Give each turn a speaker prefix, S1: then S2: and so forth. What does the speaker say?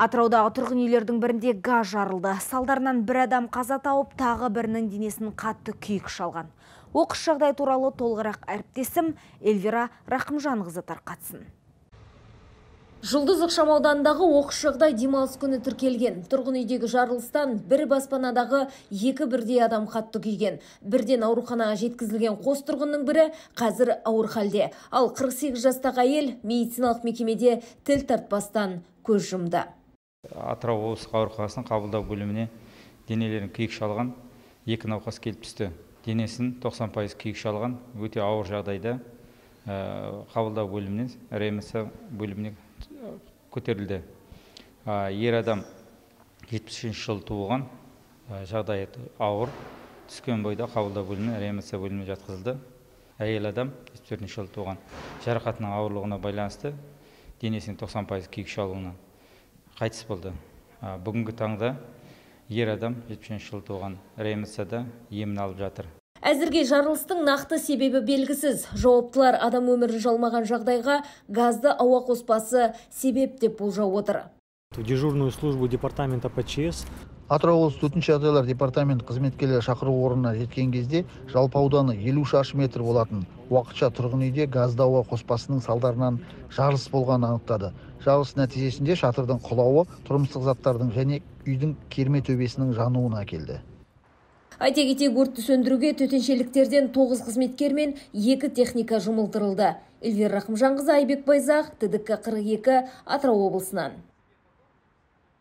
S1: Атыраудағы тұрғын үйлердің бірінде газ жарылды. Салдарынан бір адам қаза тауып, тағы бірінің денесін қатты күйік шалған. Оқыс жағдай туралы толығырақ әріптесім Эльвира Рақымжанқызы тарқатсын. Жұлдыз ықшамаудандағы оқыс жағдай демалыс күні тіркелген. Тұрғын үйдегі жарылыстан бір баспанадағы екі бірдей адам қатты күйген. Бірден ауруханаға жеткізілген қос тұрғынның бірі қазір ауыр халде. Ал 48 жастағы әйел медициналық мекемеде тіл тартпастан көз жұмды.
S2: Атырау облыстық ауруханасының қабылдау бөліміне денелерін күйік шалған екі науқас келіп түсті. Денесін 90% күйік шалған, өте ауыр жағдайда қабылдау бөлімінен реанимация бөліміне көтерілді. Ер адам 73 жыл туылған, жағдайы ауыр, түскен бойда қабылдау бөліміне реанимация бөліміне жатқызылды. Әйел адам 74 жыл туылған, жарақатының ауырлығына байланысты денесінің 90% күйік шалуынан қайтыс болды. Бүгінгі таңда ер адам 73 жыл туылған, реанимацияда емін алып жатыр.
S1: Әзірге жарылыстың нақты себебі белгісіз. Жауаптылар адам өмірін жалмаған жағдайға газды ауа қоспасы себеп деп болжап отыр.
S3: В дежурную службу департамента ПЧС
S4: Атырау облысы төтенше жағдайлар департамент қызметкерлері шақыру орнына жеткен кезде жалпы ауданы 50 шаршы метр болатын уақытша тұрғын үйде газды ауа қоспасының салдарынан жарылыс болғанын анықтады. Жарылыс нәтижесінде шатырдың құлауы тұрмыстық заттардың және үйдің керме төбесінің жануына әкелді.
S1: Айта кетейік, өртті сөндіруге төтеншеліктерден 9 қызметкер мен 2 техника жұмылдырылды. Эльвира Рақымжанқызы, Айбек Байзақ, ТДК 42, Атырау облысынан.